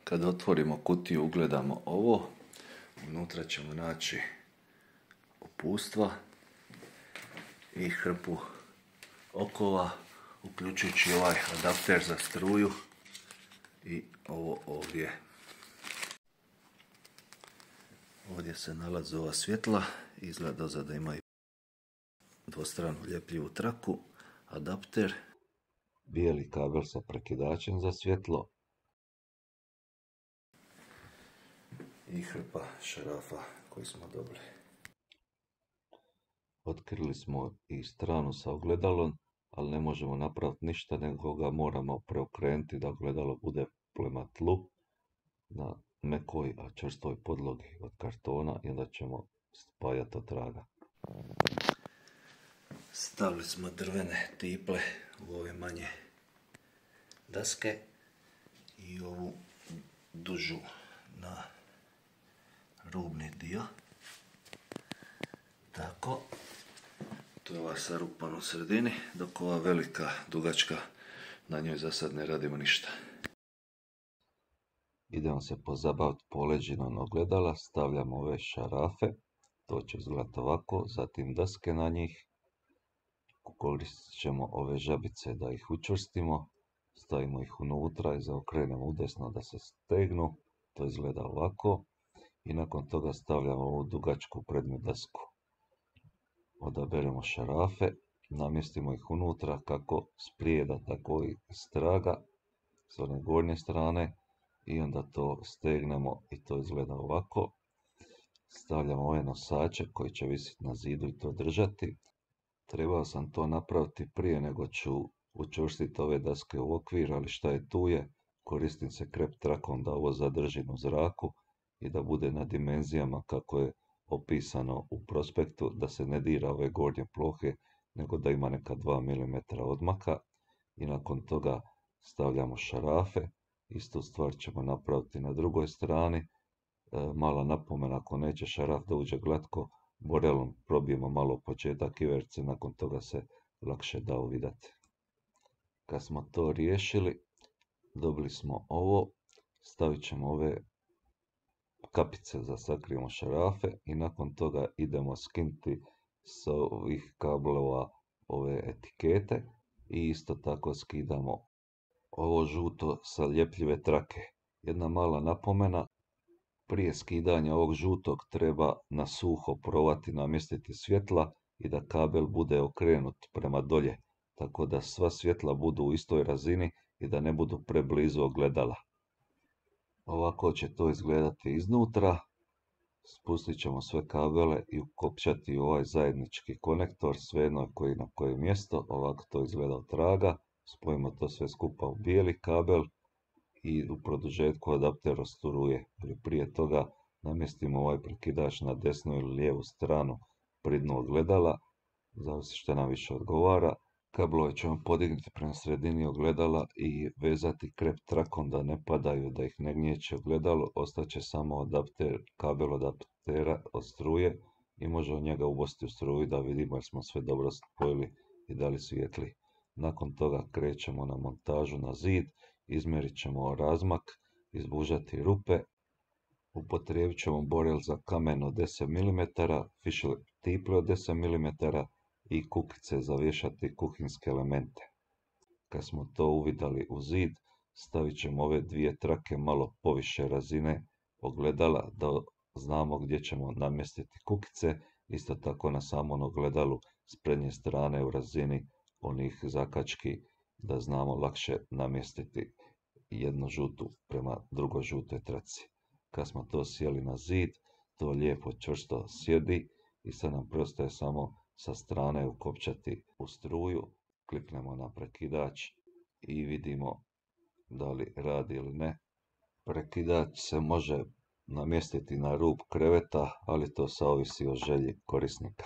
Kad otvorimo kutiju ugledamo ovo, unutra ćemo naći opustva i hrpu okova, uključujući ovaj adapter za struju i ovo ovdje. Ovdje se nalaze ova svjetla, izgleda dozad da imaju dvostranu ljepljivu traku, adapter, bijeli kabel sa prekidačem za svjetlo i hrpa šarafa koji smo dobili. Otkrili smo i stranu sa ogledalom, ali ne možemo napraviti ništa, nego ga moramo preokrenuti da ogledalo bude prema tlu na mekoj, a čvrstoj podlogi od kartona i onda ćemo spajati od traga. Stavili smo drvene tiple u ove manje daske i ovu dužu na rubni dio. Tako, to je ova sarupan u sredini, dok ova velika, dugačka, na njoj za sad ne radimo ništa. Idemo se pozabaviti poleđinom ogledala, stavljamo ove šarafe, to će izgledati ovako, zatim daske na njih, koristit ćemo ove žabice da ih učvrstimo, stavimo ih unutra i zaokrenemo udesno da se stegnu, to izgleda ovako, i nakon toga stavljamo ovu dugačku prednju dasku. Odaberemo šarafe, namjestimo ih unutra kako sprijeda, tako i straga s one gornje strane i onda to stegnemo i to izgleda ovako. Stavljamo ove nosače koji će visiti na zidu i to držati. Trebao sam to napraviti prije nego ću učvrstiti ove daske u okvir, ali šta je tu je, koristim se krep trakom da ovo zadržim u zraku i da bude na dimenzijama kako je opisano u prospektu, da se ne dira ove gornje plohe, nego da ima neka 2 mm odmaka. I nakon toga stavljamo šarafe, istu stvar ćemo napraviti na drugoj strani. Mala napomena, ako neće šaraf da uđe glatko, borelom probijemo malo početak iverce, nakon toga se lakše da uvidati. Kad smo to riješili, dobili smo ovo, stavit ćemo ove kapice za sakrijemo šarafe i nakon toga idemo skinuti s ovih kablova ove etikete i isto tako skidamo ovo žuto sa ljepljive trake. Jedna mala napomena, prije skidanja ovog žutog treba na suho provati namjestiti svjetla i da kabel bude okrenut prema dolje, tako da sva svjetla budu u istoj razini i da ne budu preblizu ogledala. Ovako će to izgledati iznutra. Spustit ćemo sve kabele i ukopčati ovaj zajednički konektor, svejedno koji na koje mjesto. Ovako to izgleda od traga. Spojimo to sve skupa u bijeli kabel i u produžetku adapter od struje. Prije toga namjestimo ovaj prekidač na desnu ili lijevu stranu pri dnu ogledala, zavisi što nam više odgovara. Kablove ćemo podignuti prema sredini ogledala i vezati krep trakom da ne padaju, da ih ne gnječe ogledalo. Ostaće samo kabel adaptera od struje i možemo njega ubosti u struju da vidimo jer smo sve dobro spojili i da li svijetli. Nakon toga krećemo na montažu na zid, izmjerit ćemo razmak, izbužati rupe, upotrijebit ćemo borel za kamen od 10 mm, fišle tiple od 10 mm i kukice za vješati kuhinske elemente. Kad smo to uvidali u zid, stavit ćemo ove dvije trake malo poviše razine ogledala da znamo gdje ćemo namjestiti kukice, isto tako na samom ogledalu s prednje strane u razini onih zakački da znamo lakše namjestiti jednu žutu prema drugoj žutoj traci. Kad smo to sjeli na zid, to lijepo čvrsto sjedi i sad nam preostaje samo sa strane ukopčati u struju, kliknemo na prekidač i vidimo da li radi ili ne. Prekidač se može namjestiti na rub kreveta, ali to sve ovisi o želji korisnika.